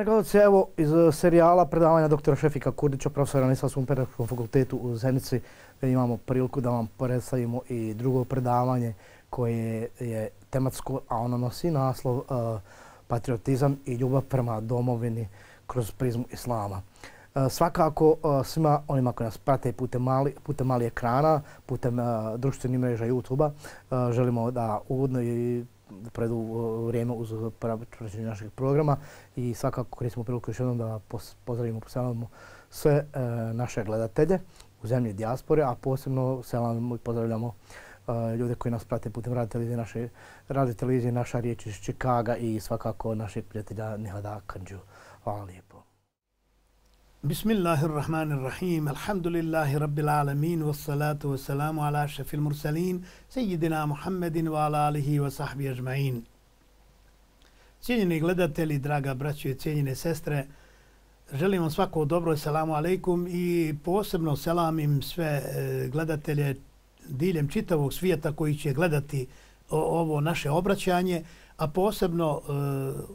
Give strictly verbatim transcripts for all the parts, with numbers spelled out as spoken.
Poštovani gledalci, evo iz serijala predavanja doktora Šefika Kurdića, profesora na Islamskom pedagoškom fakultetu u Zenici, imamo priliku da vam predstavimo i drugo predavanje koje je tematsko, a ono nosi naslov uh, patriotizam i ljubav prema domovini kroz prizmu islama. Uh, svakako uh, svima onima koji nas prate putem mali, putem mali ekrana, putem uh, društvenih mreža YouTube-a, uh, želimo da uvodno i predu vrijeme uz praćenje našeg programa i svakako koristimo priliku još jednom da pozdravimo, pozdravimo sve e, naše gledatelje u zemlji dijaspore, a posebno selamimo i pozdravljamo e, ljude koji nas prate putem radio televizije naše, radio televizije naša riječ iz Čikaga i svakako našeg prijatelja Nihada Kandžu. Hvala lijepo. Bismillahirrahmanirrahim. Alhamdulillahi rabbil alamin. Wassalatu wassalamu ala ašrafil mursalin. Sejidina Muhammedin wa ala alihi wa sahbihi ajma'in. Cijenjeni gledatelji, draga braćo i cijenjene sestre, želim vam svako dobro, selamu alejkum i posebno selamim sve gledatelje diljem čitavog svijeta koji će gledati ovo naše obraćanje, a posebno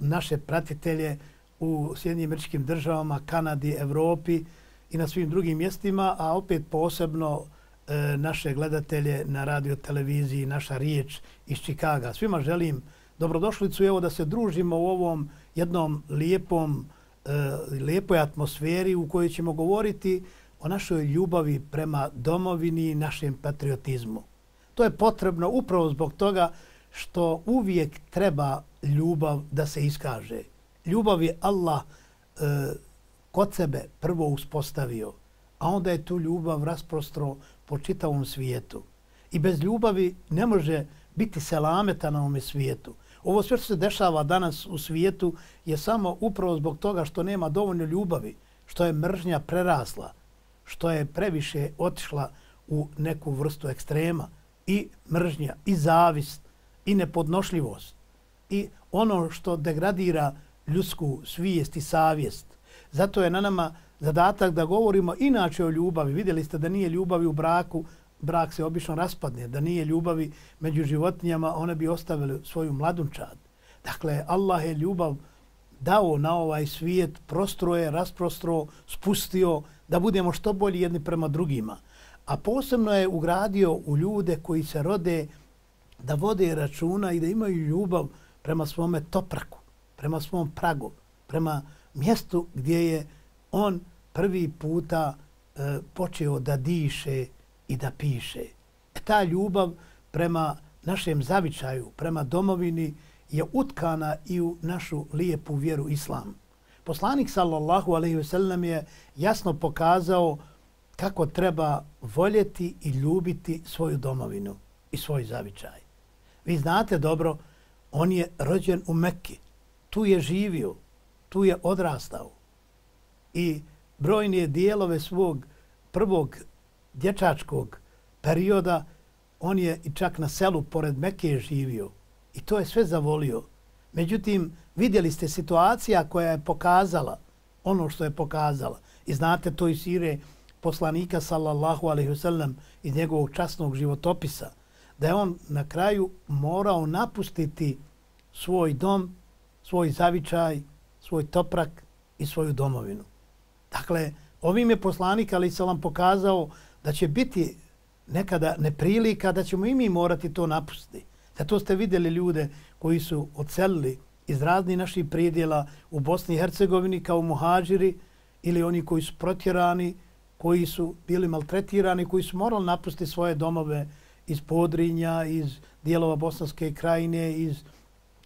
naše pratitelje u Sjedinjenim Američkim Državama, Kanadi, Evropi i na svim drugim mjestima, a opet posebno e, naše gledatelje na radio televiziji Naša riječ iz Čikaga. Svima želim dobrodošlicu i evo da se družimo u ovom jednom lijepom, e, lijepoj atmosferi u kojoj ćemo govoriti o našoj ljubavi prema domovini i našem patriotizmu. To je potrebno upravo zbog toga što uvijek treba ljubav da se iskaže. Ljubav je Allah e, kod sebe prvo uspostavio, a onda je tu ljubav rasprostro po čitavom svijetu. I bez ljubavi ne može biti selameta na ovome svijetu. Ovo sve što se dešava danas u svijetu je samo upravo zbog toga što nema dovoljno ljubavi, što je mržnja prerasla, što je previše otišla u neku vrstu ekstrema i mržnja, i zavist, i nepodnošljivost, i ono što degradira ljudsku svijest i savjest. Zato je na nama zadatak da govorimo inače o ljubavi. Vidjeli ste da nije ljubavi u braku, brak se obično raspadne, da nije ljubavi među životinjama, one bi ostavili svoju mladunčad. Dakle, Allah je ljubav dao na ovaj svijet, prostroje, rasprostro, spustio da budemo što bolji jedni prema drugima. A posebno je ugradio u ljude koji se rode da vode računa i da imaju ljubav prema svome topraku, prema svom pragu, prema mjestu gdje je on prvi puta e, počeo da diše i da piše. E, ta ljubav prema našem zavičaju, prema domovini je utkana i u našu lijepu vjeru islam. Poslanik sallallahu alejhi ve sellem je jasno pokazao kako treba voljeti i ljubiti svoju domovinu i svoj zavičaj. Vi znate dobro, on je rođen u Mekki. Tu je živio, tu je odrastao i brojne dijelove svog prvog dječačkog perioda on je i čak na selu pored Mekke živio i to je sve zavolio. Međutim, vidjeli ste situacija koja je pokazala ono što je pokazala i znate to iz sire poslanika sallallahu alejhi ve sellem iz njegovog časnog životopisa, da je on na kraju morao napustiti svoj dom, svoj zavičaj, svoj toprak i svoju domovinu. Dakle, ovim je poslanik alejhi selam pokazao da će biti nekada neprilika, da ćemo i mi morati to napustiti. Zato ste vidjeli ljude koji su odselili iz raznih naših predjela u Bosni i Hercegovini kao muhađiri ili oni koji su protjerani, koji su bili maltretirani, koji su morali napustiti svoje domove iz Podrinja, iz dijelova Bosanske krajine, iz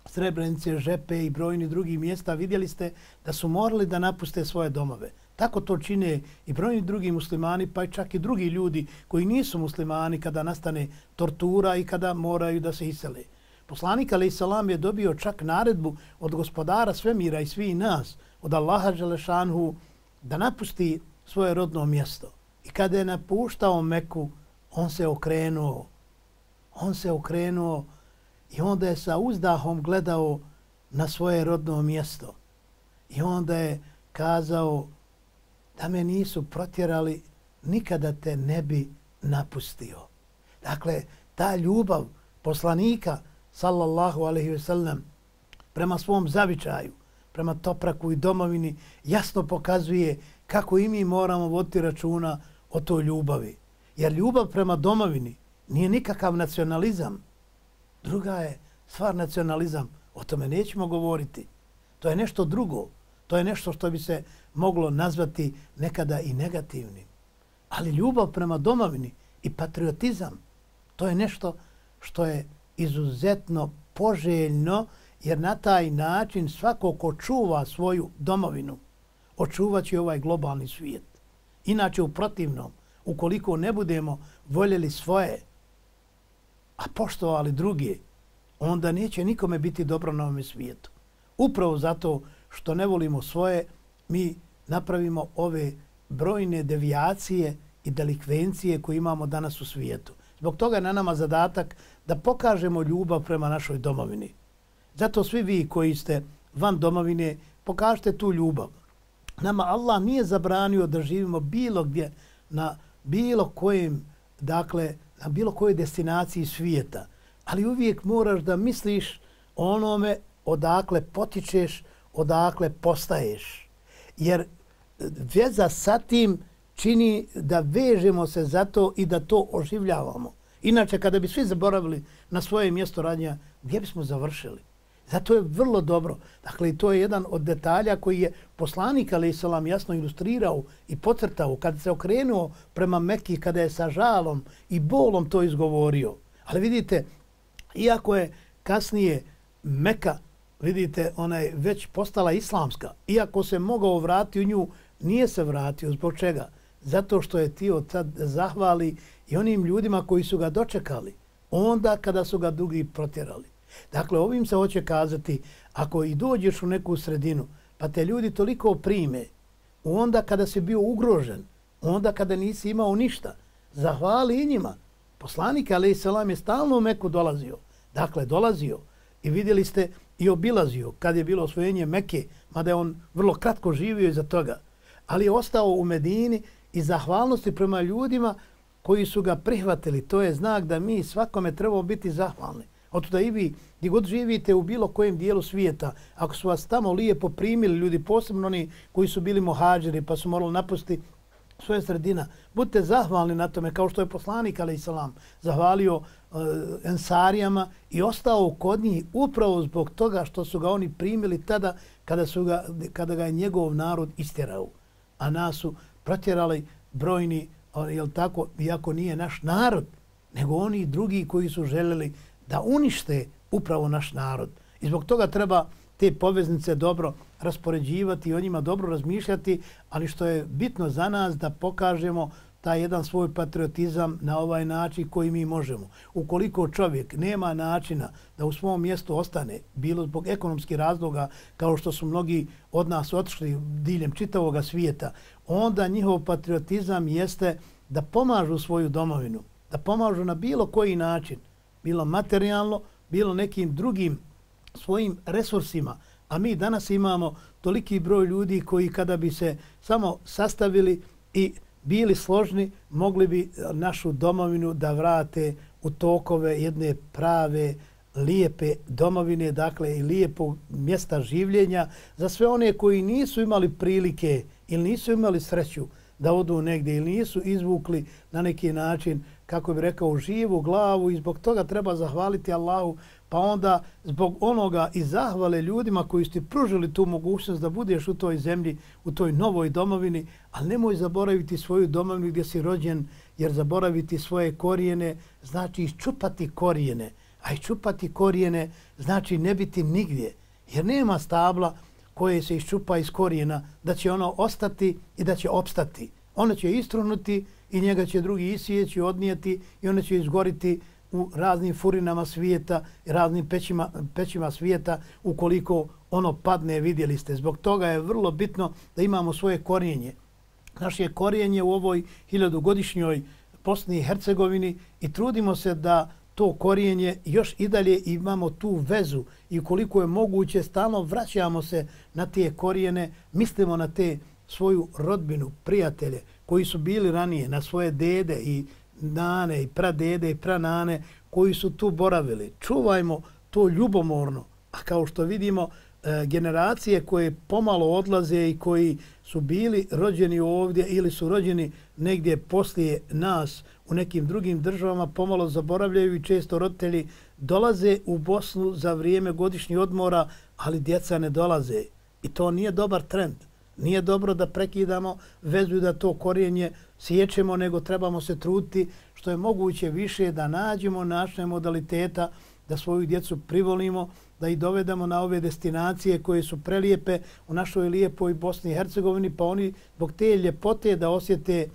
Srebrenice, Žepe i brojni drugih mjesta. Vidjeli ste da su morali da napuste svoje domove. Tako to čine i brojni drugi muslimani, pa i čak i drugi ljudi koji nisu muslimani kada nastane tortura i kada moraju da se isele. Poslanik alejhi selam je dobio čak naredbu od gospodara svemira i svih nas, od Allaha dželešanhu, da napusti svoje rodno mjesto. I kada je napuštao Meku, on se okrenuo. On se okrenuo i onda je sa uzdahom gledao na svoje rodno mjesto. I onda je kazao da me nisu protjerali, nikada te ne bi napustio. Dakle, ta ljubav poslanika sallallahu alejhi ve sellem prema svom zavičaju, prema Topraku i domovini jasno pokazuje kako i mi moramo voditi računa o toj ljubavi. Jer ljubav prema domovini nije nikakav nacionalizam. Druga je stvar nacionalizam. O tome nećemo govoriti. To je nešto drugo. To je nešto što bi se moglo nazvati nekada i negativnim. Ali ljubav prema domovini i patriotizam, to je nešto što je izuzetno poželjno, jer na taj način svako ko čuva svoju domovinu, očuvat će ovaj globalni svijet. Inače, u protivnom, ukoliko ne budemo voljeli svoje, a poštovali druge, onda neće nikome biti dobro na ovom svijetu. Upravo zato što ne volimo svoje, mi napravimo ove brojne devijacije i delikvencije koje imamo danas u svijetu. Zbog toga je na nama zadatak da pokažemo ljubav prema našoj domovini. Zato svi vi koji ste van domovine, pokažite tu ljubav. Nama Allah nije zabranio da živimo bilo gdje, na bilo kojem, dakle, na bilo kojoj destinaciji svijeta. Ali uvijek moraš da misliš o onome odakle potičeš, odakle postaješ. Jer veza sa tim čini da vežemo se za to i da to oživljavamo. Inače, kada bi svi zaboravili na svoje mjesto rađenja, gdje bismo završili? Zato je vrlo dobro. Dakle, to je jedan od detalja koji je poslanik alejhi selam jasno ilustrirao i podcrtao kada se okrenuo prema Mekki, kada je sa žalom i bolom to izgovorio. Ali vidite, iako je kasnije Meka, vidite, ona je već postala islamska, iako se mogao vratiti u nju, nije se vratio. Zbog čega? Zato što je ti od sad zahvali i onim ljudima koji su ga dočekali onda kada su ga drugi protjerali. Dakle, ovim se hoće kazati, ako i dođeš u neku sredinu, pa te ljudi toliko prime, onda kada si bio ugrožen, onda kada nisi imao ništa, zahvali i njima. Poslanik alejhi selam je stalno u Meku dolazio. Dakle, dolazio i vidjeli ste i obilazio kad je bilo osvojenje Mekke, mada je on vrlo kratko živio iza toga. Ali je ostao u Medini i zahvalnosti prema ljudima koji su ga prihvatili. To je znak da mi svakome trebamo biti zahvalni. Otuda i vi, gdje god živite u bilo kojem dijelu svijeta, ako su vas tamo lijepo primili ljudi, posebno oni koji su bili muhadžiri pa su morali napustiti svoje sredina, budite zahvalni na tome, kao što je poslanik alejhi selam zahvalio uh, Ensarijama i ostao kod njih upravo zbog toga što su ga oni primili tada kada, su ga, kada ga je njegov narod istjerao. A nas su protjerali brojni, jel tako, iako nije naš narod, nego oni drugi koji su željeli da unište upravo naš narod. I zbog toga treba te poveznice dobro raspoređivati i o njima dobro razmišljati, ali što je bitno za nas da pokažemo taj jedan svoj patriotizam na ovaj način koji mi možemo. Ukoliko čovjek nema načina da u svom mjestu ostane, bilo zbog ekonomskih razloga, kao što su mnogi od nas otišli diljem čitavog svijeta, onda njihov patriotizam jeste da pomažu svoju domovinu, da pomažu na bilo koji način, bilo materijalno, bilo nekim drugim svojim resursima. A mi danas imamo toliki broj ljudi koji kada bi se samo sastavili i bili složni, mogli bi našu domovinu da vrate u tokove jedne prave, lijepe domovine, dakle i lijepog mjesta življenja za sve one koji nisu imali prilike ili nisu imali sreću da odu negdje ili nisu izvukli na neki način, kako bi rekao, živu glavu i zbog toga treba zahvaliti Allahu, pa onda zbog onoga i zahvale ljudima koji su ti pružili tu mogućnost da budeš u toj zemlji, u toj novoj domovini, ali nemoj zaboraviti svoju domovinu gdje si rođen, jer zaboraviti svoje korijene znači iščupati korijene, a iščupati korijene znači ne biti nigdje, jer nema stabla koje se iščupa iz korijena da će ono ostati i da će opstati. Ono će istrunuti i njega će drugi isijeći, odnijeti i ono će izgoriti u raznim furinama svijeta i raznim pećima, pećima svijeta ukoliko ono padne, vidjeli ste. Zbog toga je vrlo bitno da imamo svoje korijenje. Naše korijenje u ovoj hiljadugodišnjoj Bosni i Hercegovini i trudimo se da to korijenje još i dalje imamo tu vezu i ukoliko je moguće stalno vraćamo se na te korijene, mislimo na te svoju rodbinu, prijatelje koji su bili ranije, na svoje dede i nane i pradede i pranane koji su tu boravili. Čuvajmo to ljubomorno, a kao što vidimo e, generacije koje pomalo odlaze i koji su bili rođeni ovdje ili su rođeni negdje poslije nas u nekim drugim državama, pomalo zaboravljaju i često roditelji dolaze u Bosnu za vrijeme godišnjih odmora, ali djeca ne dolaze. I to nije dobar trend. Nije dobro da prekidamo vezu i da to korijenje sjećemo, nego trebamo se truditi što je moguće više da nađemo naše modaliteta, da svoju djecu privolimo, da ih dovedemo na ove destinacije koje su prelijepe u našoj lijepoj Bosni i Hercegovini, pa oni zbog te ljepote da osjete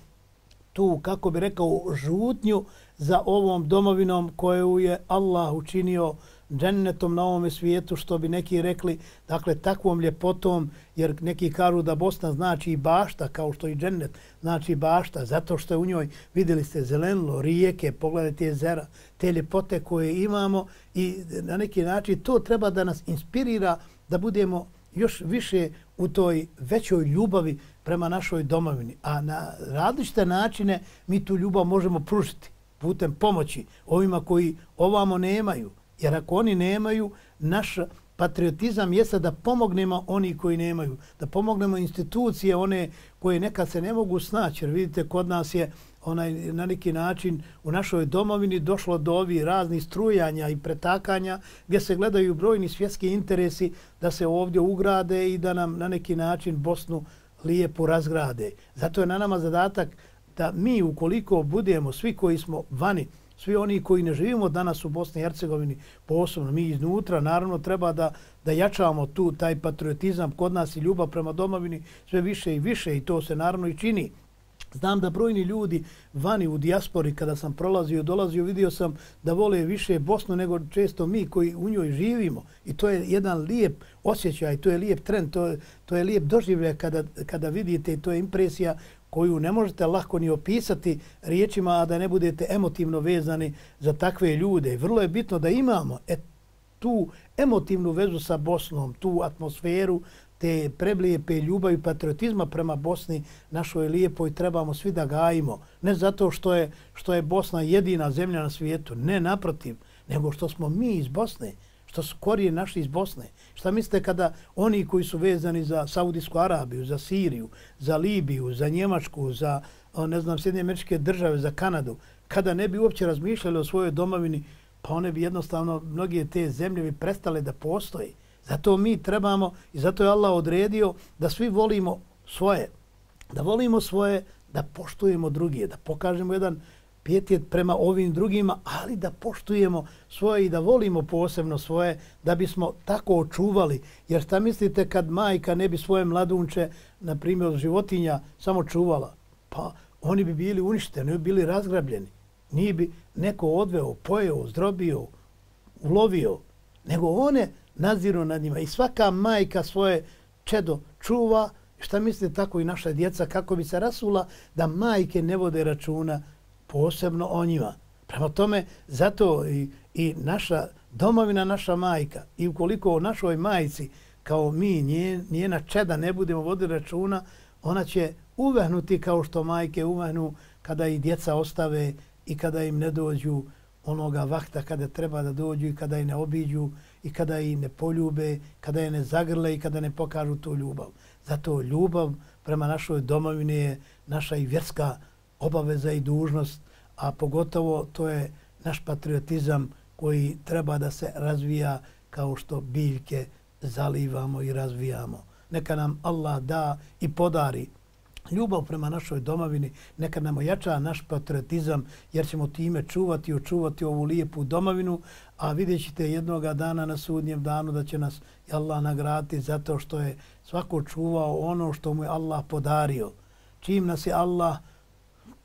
tu, kako bi rekao, žutnju za ovom domovinom koju je Allah učinio džennetom na ovome svijetu, što bi neki rekli, dakle, takvom ljepotom, jer neki kažu da Bosna znači i bašta, kao što i džennet znači bašta, zato što je u njoj, vidjeli ste, zelenilo, rijeke, pogledajte jezera, te ljepote koje imamo i na neki način to treba da nas inspirira da budemo još više u toj većoj ljubavi prema našoj domovini. A na različite načine mi tu ljubav možemo pružiti putem pomoći ovima koji ovamo nemaju. Jer ako oni nemaju, naš patriotizam jeste da pomognemo oni koji nemaju, da pomognemo institucije one koje nekad se ne mogu snaći. Jer vidite, kod nas je onaj, na neki način u našoj domovini došlo do ovih raznih strujanja i pretakanja gdje se gledaju brojni svjetski interesi da se ovdje ugrade i da nam na neki način Bosnu lijepo razgrade. Zato je na nama zadatak da mi, ukoliko budemo svi koji smo vani, svi oni koji ne živimo danas u Bosni i Hercegovini, posebno mi iznutra, naravno treba da, da jačamo tu taj patriotizam kod nas i ljubav prema domovini sve više i više i to se naravno i čini. Znam da brojni ljudi vani u dijaspori, kada sam prolazio, dolazio, vidio sam da vole više Bosnu nego često mi koji u njoj živimo. I to je jedan lijep osjećaj, to je lijep trend, to je, to je lijep doživljaj kada, kada vidite i to je impresija koju ne možete lako ni opisati riječima, a da ne budete emotivno vezani za takve ljude. Vrlo je bitno da imamo et, tu emotivnu vezu sa Bosnom, tu atmosferu, te preblijepe ljubavi i patriotizma prema Bosni, našoj lijepoj, trebamo svi da gajimo. Ne zato što je, što je Bosna jedina zemlja na svijetu, ne naprotiv, nego što smo mi iz Bosne, što su korijeni naši iz Bosne. Šta mislite kada oni koji su vezani za Saudijsku Arabiju, za Siriju, za Libiju, za Njemačku, za, ne znam, Sjedinjene Američke Države, za Kanadu, kada ne bi uopće razmišljali o svojoj domovini, pa one bi jednostavno, mnoge te zemlje bi prestale da postoji. Zato mi trebamo i zato je Allah odredio da svi volimo svoje, da volimo svoje, da poštujemo druge, da pokažemo jedan pijetet prema ovim drugima, ali da poštujemo svoje i da volimo posebno svoje, da bismo tako očuvali. Jer šta mislite kad majka ne bi svoje mladunče, na primjer životinja, samo čuvala? Pa oni bi bili uništeni, oni bi bili razgrabljeni. Nije bi neko odveo, pojeo, zdrobio, ulovio, nego one nadziru nad njima. I svaka majka svoje čedo čuva. Šta mislite, tako i naša djeca, kako bi se rasula da majke ne vode računa posebno o njima. Prema tome, zato i, i naša domovina, naša majka, i ukoliko o našoj majci, kao mi, nje, njena čeda ne budemo voditi računa, ona će uvehnuti kao što majke uvehnu kada i djeca ostave i kada im ne dođu onoga vakta kada treba da dođu i kada ih ne obiđu i kada ih ne poljube, kada je ne zagrle i kada ne pokažu tu ljubav. Zato ljubav prema našoj domovini je naša i vjerska obaveza i dužnost, a pogotovo to je naš patriotizam koji treba da se razvija kao što biljke zalivamo i razvijamo. Neka nam Allah da i podari ljubav prema našoj domovini, neka nam ojača naš patriotizam, jer ćemo time čuvati i očuvati ovu lijepu domovinu, a vidjet ćete jednoga dana na sudnjem danu da će nas Allah nagraditi zato što je svako čuvao ono što mu je Allah podario. Čim nas je Allah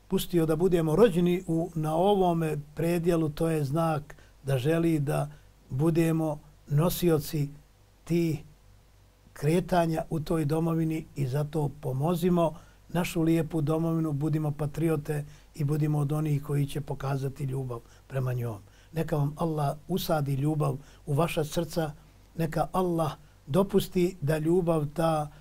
pustio da budemo rođeni u, na ovome predjelu, to je znak da želi da budemo nosioci tih kretanja u toj domovini i zato pomozimo našu lijepu domovinu, budimo patriote i budimo od onih koji će pokazati ljubav prema njom. Neka vam Allah usadi ljubav u vaša srca, neka Allah dopusti da ljubav ta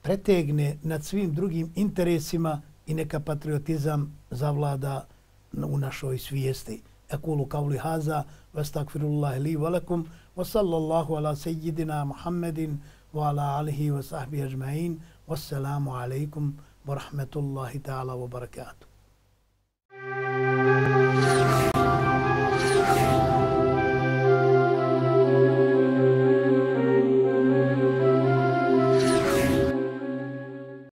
pretegne nad svim drugim interesima i neka patriotizam zavlada u našoj svijesti. أقول قولي هذا واستغفر الله لي ولكم وصلى الله على سيدنا محمد وعلى آله وصحبه أجمعين والسلام عليكم ورحمة الله تعالى وبركاته.